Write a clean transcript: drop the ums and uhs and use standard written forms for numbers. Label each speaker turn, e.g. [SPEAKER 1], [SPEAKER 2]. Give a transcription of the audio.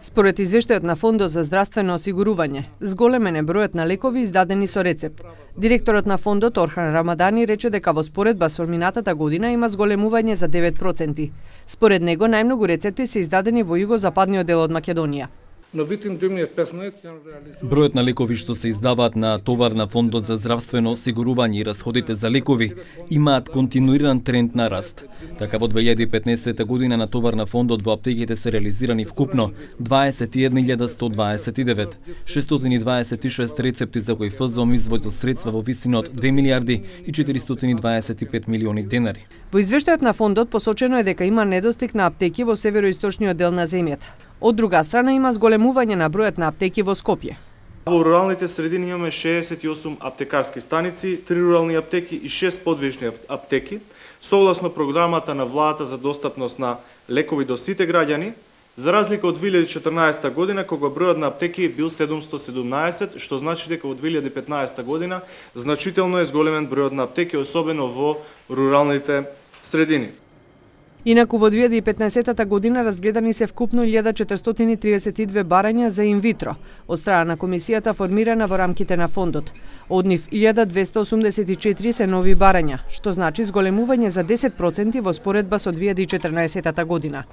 [SPEAKER 1] Според извештајот на Фондот за здравствено осигурување, зголемен е бројот на лекови издадени со рецепт. Директорот на фондот Орхан Рамадани рече дека во споредба со минатата година има зголемување за 9%. Според него најмногу рецепти се издадени во југозападниот дел од Македонија.
[SPEAKER 2] Бројот на лекови што се издаваат на товар на Фондот за здравствено осигурување и расходите за лекови имаат континуиран тренд на раст. Така во 2015 година на товар на фондот во аптеките се реализирани вкупно 21.129, 626 рецепти за кои ФЗОМ изводил средства во висина од 2 милиарди и 425 милиони денари.
[SPEAKER 1] Во извештајот на фондот посочено е дека има недостиг на аптеки во североисточниот дел на земјата. Од друга страна има зголемување на бројот на аптеки во Скопје.
[SPEAKER 3] Во руралните средини имаме 68 аптекарски станици, 3 рурални аптеки и 6 подвижни аптеки, согласно програмата на владата за достапност на лекови до сите граѓани, за разлика од 2014 година, кога бројот на аптеки бил 717, што значи дека во 2015 година значително е зголемен бројот на аптеки, особено во руралните средини.
[SPEAKER 1] Инаку во 2015 година разгледани се вкупно 1432 барања за инвитро од страна на комисијата формирана во рамките на фондот. Од нив 1284 се нови барања, што значи зголемување за 10% во споредба со 2014 година.